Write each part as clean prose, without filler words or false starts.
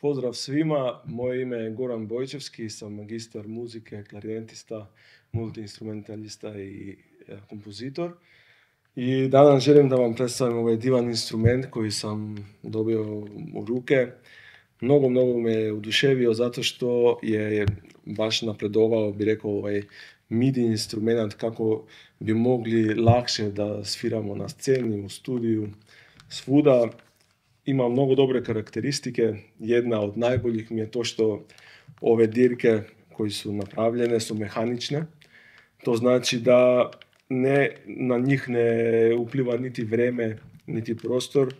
Pozdrav svima, moje ime je Goran Bojčevski, sam magistar muzike, klarinetista, multiinstrumentalista i kompozitor. I danas želim da vam predstavim ovaj divan instrument koji sam dobio u ruke. Mnogo me je oduševio zato što je baš napredovao, bi rekao, ovaj MIDI instrument kako bi mogli lakše da sviramo na sceni, u studiju, svuda. Ima mnogo dobre karakteristike. Jedna od najboljih mi je to što ove dirke koje su napravljene su mehanične. To znači da na njih ne upliva niti vreme, niti prostor.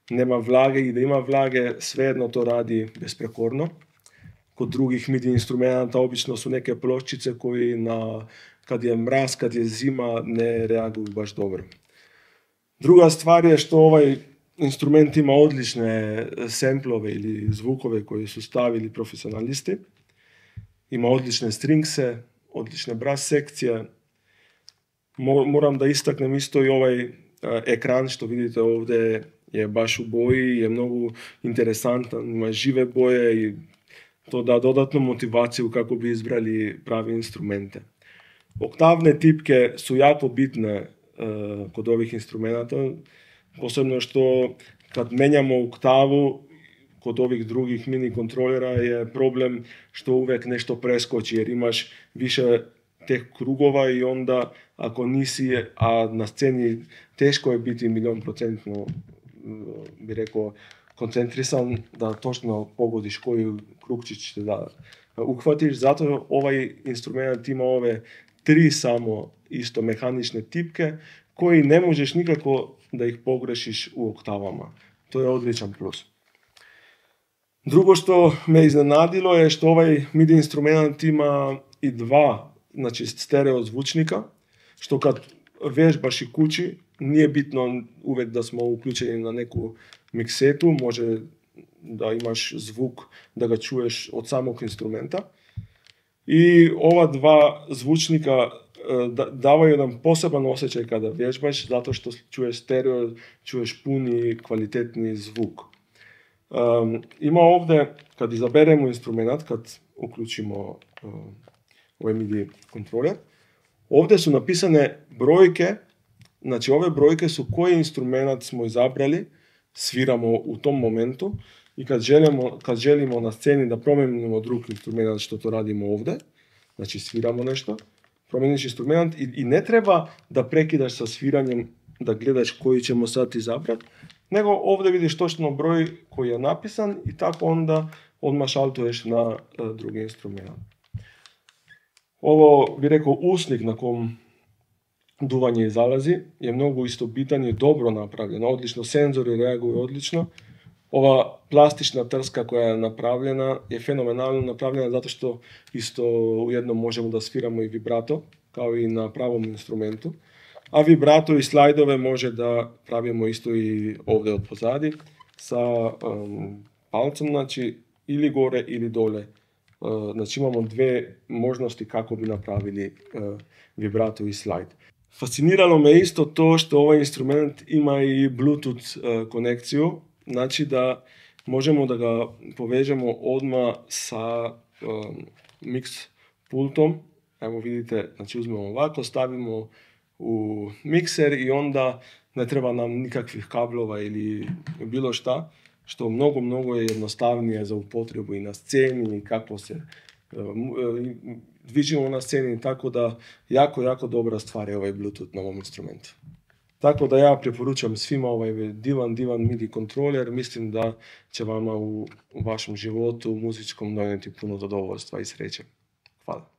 Nema vlage i da ima vlage, svejedno to radi besprekorno. Kod drugih MIDI instrumenta obično su neke pločice koji kad je mraz, kad je zima, ne reaguju baš dobro. Druga stvar je što ovaj instrument ima odlične samplove ili zvukove koje su stavili profesionalisti. Ima odlične stringse, odlične brass sekcije. Moram da istaknem isto i ovaj ekran što vidite ovdje je baš u boji, je mnogo interesantan, ima žive boje i to da dodatnu motivaciju kako bi izbrali pravi instrumente. Oktavne tipke su jako bitne kod ovih instrumenta, posebno što kad menjamo oktavu kod ovih drugih mini kontrolera je problem što uvijek nešto preskoči jer imaš više teh krugova i onda ako nisi, a na sceni teško je biti 100%, bi rekao, koncentrisan da točno pogodiš koji krugčić da uhvatiš. Zato ovaj instrument ima ove 3 samo isto mehanične tipke koji ne možeš nikako da ih pogrešiš u oktavama. To je odličan plus. Drugo što me iznenadilo je što ovaj MIDI instrument ima i 2, znači stereo zvučnika, što kad vežbaš i kući, nije bitno uvijek da smo uključeni na neku miksetu, može da imaš zvuk da ga čuješ od samog instrumenta. I ova 2 zvučnika davaju nam poseban osjećaj kada vježbaš, zato što čuješ stereo, čuješ puni, kvalitetni zvuk. Ima ovdje, kad izaberemo instrument, kad uključimo ovaj MIDI kontroler, ovdje su napisane brojke, znači ove brojke su koji instrument smo izabrali, sviramo u tom momentu i kad želimo na sceni da promijenimo drugi instrument, što to radimo ovdje, znači sviramo nešto, promijeniš instrument i ne treba da prekidaš sa sviranjem, da gledaš koji ćemo sad izabrati, nego ovdje vidiš točno broj koji je napisan i tako onda odmah šaltuješ na drugi instrument. Ovo, bi rekao, usnik na kom duvanje zalazi je mnogo isto bitan i dobro napravljeno, odlično, senzori reaguju odlično. Ova plastična trska koja je napravljena je fenomenalno napravljena zato što isto ujedno možemo da sviramo i vibrato, kao i na pravom instrumentu. A vibrato i slajdove može da pravimo isto i ovdje od pozadi sa palcem, znači ili gore ili dole. Znači imamo 2 možnosti kako bi napravili vibrato i slajd. Fasciniralo me isto to što ovaj instrument ima i Bluetooth konekciju, znači da možemo da ga povežemo odmah sa mix pultom. Evo vidite, znači uzmemo ovako, stavimo u mikser i onda ne treba nam nikakvih kablova ili bilo šta, što mnogo je jednostavnije za upotrebu i na sceni i kako se dvižimo na sceni, tako da jako dobra stvar je ovaj Bluetooth na ovom instrumentu. Tako da ja preporučam svima ovaj divan MIDI kontroler, mislim da će vama u vašem životu muzičkom donijeti puno zadovoljstva i sreće. Hvala.